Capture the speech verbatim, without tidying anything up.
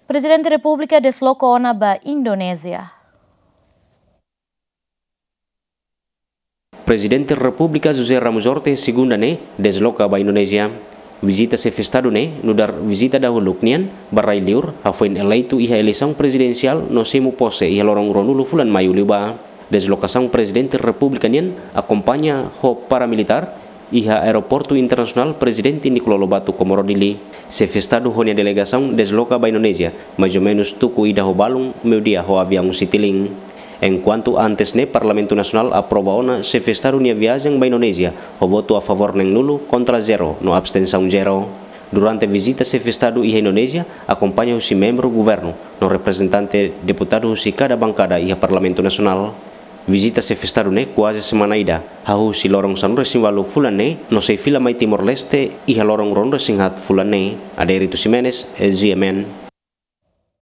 Prezidente Repúblika desloka ona ba Indonézia. Prezidente Repúblika José Ramos Horta segunda ne'e desloka ba Indonézia. Vizita xefe Estadu ne'e nu'udar vizita dahuluk nian ba rai-liur, hafoin eleitu iha eleisaun prezidensiál no simu pose iha loron ruanulu fulan Maiu liubá. Deslokasaun Prezidente Repúblika nian akompaña ho paramilitár iha Aeroportu Internasionál Prezidente Nicolau Lobato, Comoro Dili. Xefe Estadu ho nia delegasaun desloka ba Indonézia maizumenus tuku ida ho balun meiudia ho aviaun Citilink. Enkuantu antes ne'e Parlamentu Nasionál aprova ona Xefe Estadu nia viajen ba Indonézia ho votu a favór neenulu, kontra zero no abstensaun zero. Durante vizita Xefe Estadu iha Indonézia, akompaña husi membru governu no reprezentante deputadu husi kada bankada iha Parlamentu Nasionál. Vizita Xefe Estadu ne'e kuaze semana ida, hahú husi loron sanulu-resin-ualu fulan ne'e no sei fila mai Timor-Leste iha loron ruanulu-resin-haat fulan ne'e. Adérito Ximenes, G M N.